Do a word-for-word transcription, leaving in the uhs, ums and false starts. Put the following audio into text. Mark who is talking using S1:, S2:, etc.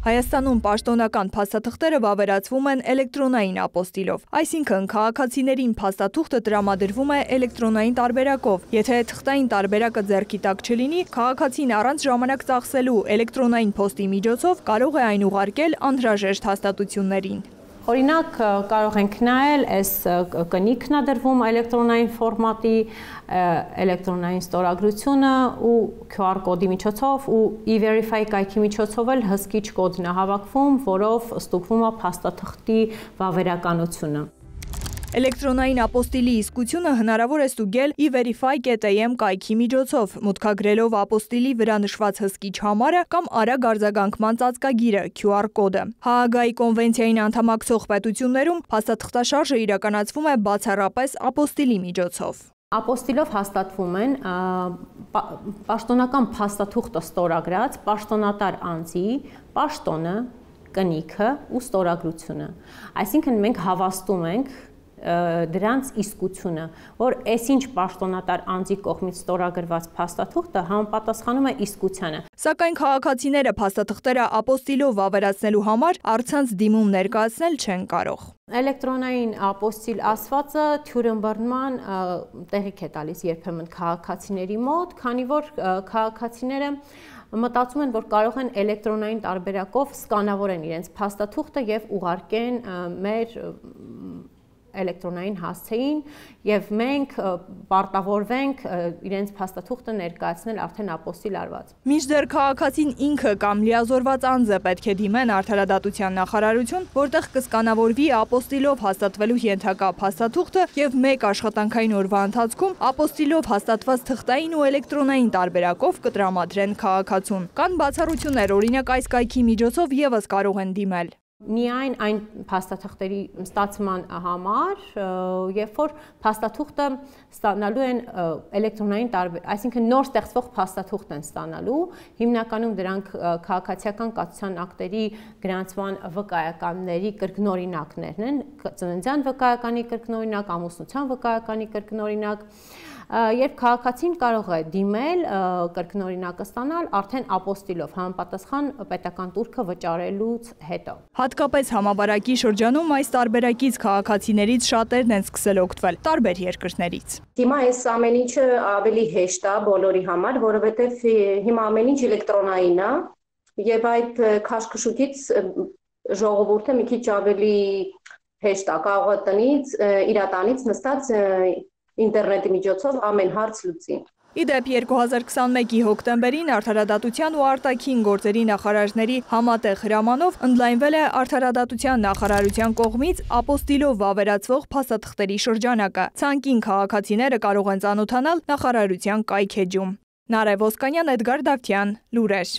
S1: Հայաստանում պաշտոնական փաստաթղթերը վավերացվում են էլեկտրոնային ապոստիլով, այսինքն քաղաքացիներին փաստաթուղթը տրամադրվում է էլեկտրոնային տարբերակով։ Եթե թղթային տարբերակը ձեռքի տակ չլինի, քաղաքացին առանց ժամանակ ծախսելու էլեկտրոնային փոստի միջոցով կարող է այն ուղարկել անհրաժեշտ հաստատություններին։
S2: Օրինակ կարող ենք նայել, այս կնիքն է դրվում էլեկտրոնային ֆորմատի, էլեկտրոնային ստորագրությունը ու Q R կոդի միջոցով ու E-Verify կայքի միջոցով էլ հսկիչ կոդն է հավաքվում, որով ստուգվում է փաստաթղթի վավերականությունը։
S1: Էլեկտրոնային ապոստիլի իսկությունը հնարավոր է ստուգել E-Verify կետ A M կայքի միջոցով, մուտքագրելով ապոստիլի վրա նշված հսկիչ համարը կամ արագ արձագանքման ծածկագիրը Q R կոդը։ Հաագայի կոնվենցիային անդամակցող պետություններում փաստաթղթաշարժը իրականացվում է բացառապես ապոստիլի միջոցով։
S2: Ապոստիլով հաստատվում են պաշտոնական փաստաթուղթը ստորագրած պաշտոնատար անձի պաշտոնը, կնիքը ու ստորագրությունը։ Այսինքն մենք հավաստում ենք դրանց իսկությունը, որ այսինչ պաշտոնատար անձի կողմից ստորագրված փաստաթուղթը համապատասխանում է իսկությանը։
S1: Սակայն քաղաքացիները փաստաթղթերը ապոստիլով վավերացնելու համար առցանց դիմում ներկայացնել չեն կարող։
S2: Էլեկտրոնային ապոստիլ ասվածը թյուրըմբռնման տեղիք է տալիս երբեմն քաղաքացիների մոտ, քանի որ քաղաքացիները մտածում են, որ կարող են էլեկտրոնային տարբերակով սկանավորեն իրենց փաստաթուղթը եւ ուղարկեն մեր էլեկտրոնային հասցեին եւ մենք պարտավորվենք իրենց փաստաթուղթը ներկայացնել արդեն ապոստիլ արված։
S1: Մինչդեռ քաղաքացին ինքը կամ լիազորված անձը պետք է դիմեն Արդարադատության նախարարություն, որտեղ կսկանավորվի ապոստիլով հաստատվելու ենթակա փաստաթուղթը եւ մեկ աշխատանքային օրվա ընթացքում ապոստիլով հաստատված թղթային ու էլեկտրոնային տարբերակով կտրամադրեն քաղաքացուն։ Կան բացառություններ, օրինակ այս կայքի միջոցով եւս կարող են դիմել։
S2: Միայն այն փաստաթղթերի ստացման համար, երբ որ փաստաթուղթը ստանալու են էլեկտրոնային տարբեր, այսինքն նոր ստեղծվող փաստաթուղթ են ստանալու, հիմնականում դրանք քաղաքացիական կացության ակտերի գրանցման վկայականների կրկնօրինակներն են, ծննդյան վկայականի կրկնօրինակ, ամուսնության վկայականի կրկնօրինակ, երբ քաղաքացին կարող է դիմել կրկնօրինակը ստանալ արդեն ապոստիլով համապատասխան պետական տուրքը վճարելուց հետո։
S1: Հատկապես համավարակի շրջանում այս տարբերակից քաղաքացիներից շատերն են սկսել օգտվել տարբեր երկրներից։
S3: Հիմա այս ամեն ինչը ավելի հեշտ է բոլորի համար, որովհետև հիմա ամեն ինչ էլեկտրոնային է եւ այդ քաշքշուկից ժողովուրդը մի քիչ ավելի հեշտ է կարող է տնից իր տանից նստած ինտերնետի միջոցով ամեն հարց լուծի։
S1: Իդեպ երկու հազար քսանմեկի հոկտեմբերին Արդարադատության ու արտաքին գործերի նախարարների համատեղ հրամանով ընդլայնվել է Արդարադատության նախարարության կողմից ապոստիլով վավերացվող փաստաթղթերի շրջանակը։ Ցանկին քաղաքացիները կարող են ծանոթանալ նախարարության կայք էջում։ Նարեկ Ոսկանյան, Էդգար Դավթյան, լուրեր։